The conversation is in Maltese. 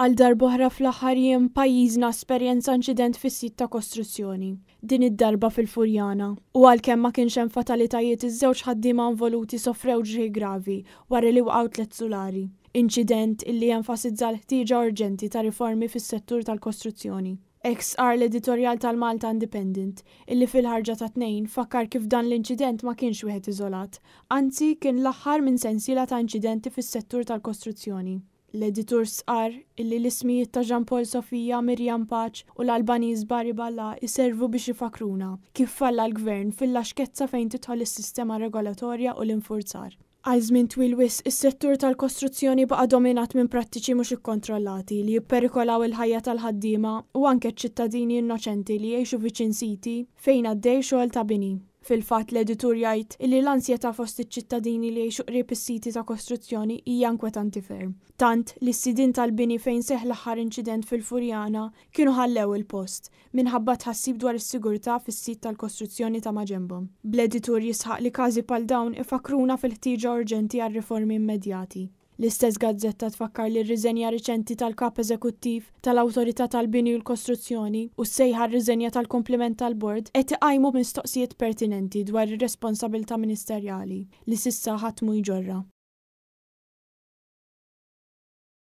Għal darb'oħra fl-aħħar jiem pajjiżna esperjenza inċident fis-sit ta' kostruzzjoni, din id-darba fil-Furjana. U għalkemm ma kienx hemm fatalitajiet, iż-żewġ ħaddiema involuti sofrew ġrieħi gravi wara li waqgħu tliet sulari. Inċident illi jenfasizza l-ħtieġa urġenti ta' riformi fis-settur tal-kostruzzjoni. Hekk stqarr l-editorjal tal-Malta Independent, illi fil-ħarġa tat-Tnejn fakkar kif dan l-inċident ma kienx wieħed iżolat, anzi kien l-aħħar minn sensiela ta' inċidenti fis-settur tal-kostruzzjoni. L-editur stqarr illi l-ismijiet ta' Jean Paul Sofia, Miriam Pace u l-Albaniż Bari Balla jservu biex ifakkruna kif falla l-Gvern fil-laxkezza fejn tidħol is-sistema regolatorja u l-infurzar. Għal żmien twil wisq, is-settur tal-kostruzzjoni baqa' dominat minn prattiċi mhux ikkontrollati li jipperikolaw il-ħajja tal-ħaddiema u anke ċ-ċittadini innoċenti li jgħixu viċin siti fejn għaddej xogħol ta' bini. Fil-fatt, l-editur jgħid illi l-ansjetà fost iċ-ċittadini li jgħixu qrib is-siti ta' kostruzzjoni hija inkwetanti ferm. Tant li s-sidien tal-bini fejn seħħ l-aħħar inċident fil-Furjana kienu ħallew il-post minħabba tħassib dwar is-sigurtà fis-sit tal-kostruzzjoni ta' maġenbhom. Bl-editur jisħaq li każi bħal dawn ifakkruna fil-ħtieġa urġenti għal riformi immedjati. L-istess gazzetta tfakkar li r-riżenja riċenti tal-Kap Eżekuttiv tal-Awtorità tal-Bini u l-Kostruzzjoni u s-sejħa għar-riżenja tal-kumpliment tal-Bord qed iqajmu mistoqsijiet pertinenti dwar ir-responsabilità ministerjali li s'issa ħadd mhu jġorrha.